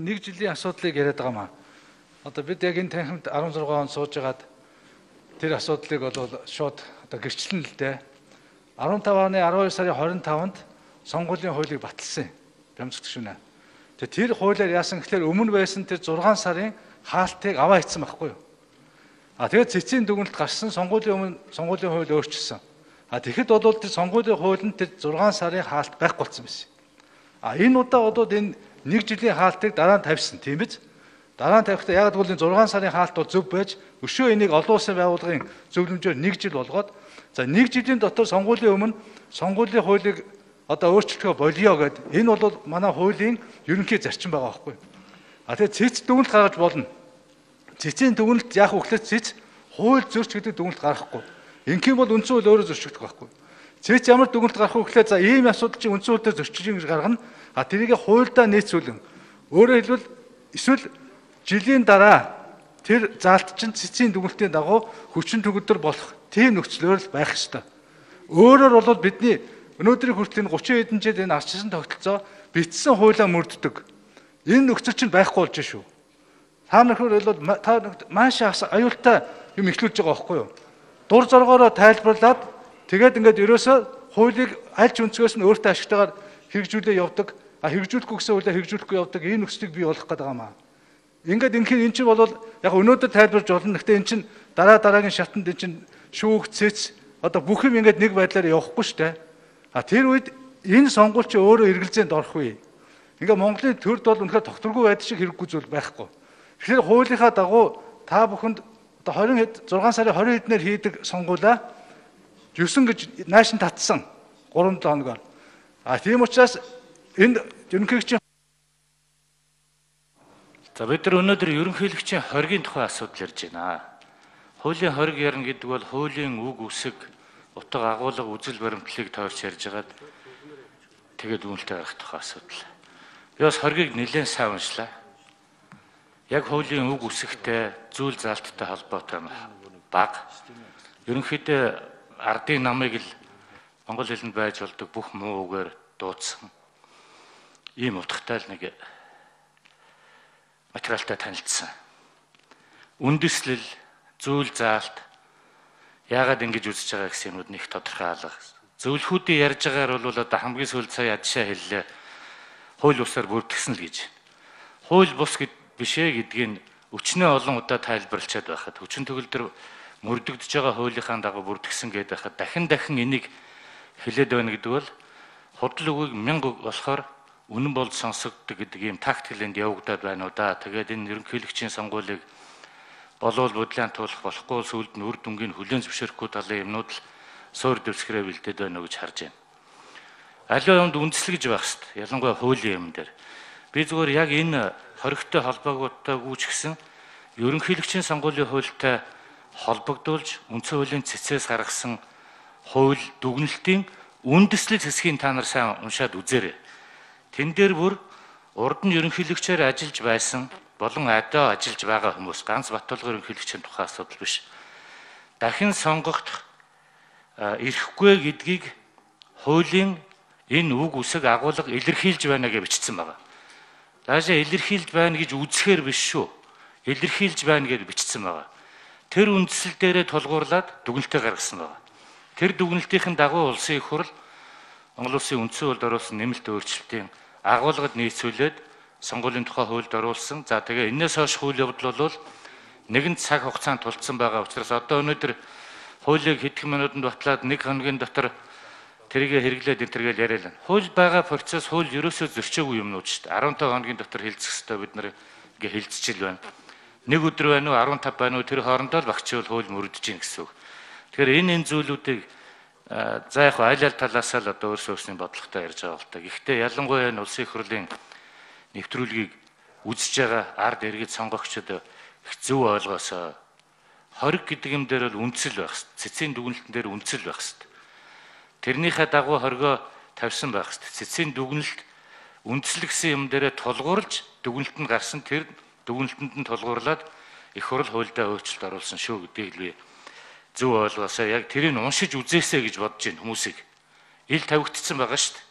нэг жилийн асуудлыг яриад байгаа маа. Одоо бид яг энэ танхимд 16 он суужгаад тэр асуудлыг бол шууд одоо гэрчлэн л дээ. 15 оны 12 сарын 25-нд сонгуулийн хуулийг баталсан юм. Бямцгт шүнэ. Тэр хуулиар яасан гэхээр өмнө байсан тэр 6 сарын хаалтыг аваа хийсэн байхгүй юу? Тэгээд цэцгийн дүгнэлт гарсан сонгуулийн өмнө сонгуулийн хууль өөрчилсөн. Тэгэхэд бол тэр сонгуулийн хуулинд тэр 6 сарын хаалт байхгүй болсон байсан. Энэ удаа одоо энэ нэг жилийн хаалтыг дараа нь тавьсан тийм биз? Дараа нь тавихдаа яг бол энэ 6 сарын хаалт бол зөв байж өшөө энийг олон улсын байгууллагын зөвлөмжөөр нэг жил болгоод за нэг жилийн дотор сонгуулийн өмнө сонгуулийн хуулийг одоо өөрчлөлтөө болио гэд энэ бол манай хуулийн ерөнхий зарчим байгаа байхгүй. Тэгээд цэц дүгнэлт гаргаж болно. Цэцийн дүгнэлт яах вэ гэхээр цэц хууль зөрч гэдэг дүгнэлт гаргахгүй. Ингийн бол үндсэн хууль өөрөө зөрчигдөх байхгүй. Цэц ямар дүгнэлт гарах вэ гэхээр за ийм асуудал чинь үндсэн хуулиар зөрчиж ингэж гаргана. Тэрийг хуульдаа нийцүүлэн өөрөөр хэлбэл эсвэл жилийн дараа тэр заалт чинь цэцийн дүгнэлтийн дагуу хүчин төгөлдөр болох тийм нөхцлөөр л байх ёстой. Өөрөөр бол бидний өнөөдрийн хүртэл 30 хэдэн жил энэ ардчилсан тогтолцоо бичсэн хуулиа мөрддөг. Энэ нөхцөл чинь байхгүй болж шүү. Та нөхөр бол та маш аюултай юм ихлүүлж байгаа байхгүй юу? Дур зоргоороо тайлбарлаад тэгээд ингээд ерөөсөө хуулийг аль ч өнцгөөс нь өөртөө ашигтайгаар хэрэгжүүлээ явдаг. Хэрэгжүүлэхгүй гэсэн хуулиар хэрэгжүүлэхгүй явдаг. Энэ нөхцөлийг бий болгох гэдэг юм аа. Ингээд энэ чинь бол яг өнөөдөр тайлбарж болно. Гэхдээ энэ чинь дараагийн шатанд энэ чинь шүүх цэц одоо бүх юм ингээд нэг байдлаар явахгүй шүү дээ. Тэр үед энэ сонгуул чи өөрөө эргэлзээнд орох үе. Ингээ Монголын төрд бол үнэхээр тогтворгүй байдаг шиг хэрэггүй зүйл байхгүй. Тэгэхээр хуулийнхаа дагуу та бүхэнд одоо 6 сарын 20 хэднээр хийдэг сонгуулаа 9 гэж наашин татсан 3-7 хоногоор. Тийм учраас энэ ерөнхийлөгчийн за бид нар өнөөдөр ерөнхийлөгчийн хоргийн тухай асуудал ярьж байна. Хуулийн хориг ярина гэдэг бол хуулийн үг үсэг утга агуулга үзэл баримтлалыг тойрч ярьж байгаад тэгээд үнэлтэй гарах тухай асуудал. Би бас хоргийг нэлээд сайн уншлаа. Яг хуулийн үг үсэгтэй зүйл заалттай холбоотой бага. Ерөнхийдөө ардын намыг л монгол хэлэнд байж болдог бүх муу үгээр дуудсан. Ийм утгатай л нэг материалтай танилцсан. Үндэслэл, зүйл заалт яагаад ингэж үзэж байгаа гэсэн юмуд нэг тодорхой алга. Зөвлөхүүдийн ярьж байгаагаар бол одоо хамгийн сүүлд сая адшаа хэллээ. Хууль бусаар бүрдгсэн л гэж. Хууль бус бишээ гэдгийг өчнөө олон удаа тайлбарлчаад байхад хүчин төгөлдөр мөрдөгдөж байгаа хуулийнхаа дагуу бүрдгсэн гэдэг байхад дахин энийг хэлээд байна гэдэг бол худал үгийг 1000 болохоор үнэн бол сонсогддог гэдэг ийм тактикэнд явагдаад байна уу да. Тэгээд энэ ерөнхийлөгчийн сонгуулийг болов бодлын туулах болохгүй сүүлд нь үр дүнгийн хүлээн зөвшөөрөхгүй талын юмнууд л суур дэвсгэрээ бэлдээд байна уу гэж харж байна. Аливаа юмд үндэслэгж байх хэрэгтэй. Ялангуяа хуулийн юм дээр. Би зүгээр яг энэ хоригтой холбоогоотойгүйч гэсэн ерөнхийлөгчийн сонгуулийн хуультай холбогдуулж үндсэн хуулийн цэцээс гаргасан хууль дүгнэлтийн үндэслэл хэсгийг та нар сайн уншаад үзээрэй. Тэн дээр бүр урд нь ерөнхийлөгчөөр ажиллаж байсан болон одоо ажиллаж байгаа хүмүүс ганц Баттулгын ерөнхийлөгчийн тухай асуудал биш. Дахин сонгогдох ирэхгүй гэдгийг хуулийн энэ үг үсэг агуулга илэрхийлж байна гэж бичсэн байна. Даашаа илэрхийлж байна гэж үзэхээр биш шүү. Илэрхийлж байна гэж бичсэн байна. Тэр үндсэл дээрээ тулгуурлаад дүгнэлтээ гаргасан байна. Тэр дүгнэлтийн дагуу улсын их хурл Монгол улсын үндсэн хуульд оруулсан нэмэлт өөрчлөлтийн агуулгад нийцүүлээд сонгуулийн тухай хуульд оруулсан. За тэгээ энэс хойш хууль явдал бол нэгэн цаг хугацаанд тулцсан байгаа учраас одоо өнөөдөр хуулийг хэдхэн минутанд батлаад 1 хоногийн дотор тэрийг хэрэглээд энтергээл яриа л. Хууль байгаа процесс хууль ерөөсөө зөрчөөгүй юмнууд шүү дээ. 15 хоногийн дотор хэлцэх хэрэгтэй бид нар ингээ хэлцчихэл байна. 1 өдөр байна уу 15 байна уу тэр хоорондоо л багчвал хууль мөрдөж гин гэсэн үг. Тэгэхээр энэ зүйлүүдийг за яг аль талаас л одоо өөрсдөө бодлоготой ярьж байгаа л та. Гэхдээ ялангуяа энэ улсын их хурлын нэвтрүүлгийг үзэж байгаа ард иргэд сонгогчдод их зөв ойлгосоо. Хориг гэдэг юм дээр бол үндэслэл байх хэрэгтэй. Цэцгийн дүгнэлтэн дээр үндэслэл байх хэрэгтэй. Тэрнийхээ дагуу хоригоо тавьсан байх хэрэгтэй. Цэцгийн дүгнэлт үндэслэл гэсэн юм дээрээ тулгуурлаж дүгнэлтэнд гарсан тэр дүгнэлтэнд нь тулгуурлаад их хурл хуульдаа өөрчлөлт оруулсан шүү гэдгийг би зөв ойлгосоо. Яг тэрийг уншиж үзээсэй гэж бодож байна хүмүүсийг. Ил тавигдсан байгаа шүү дээ.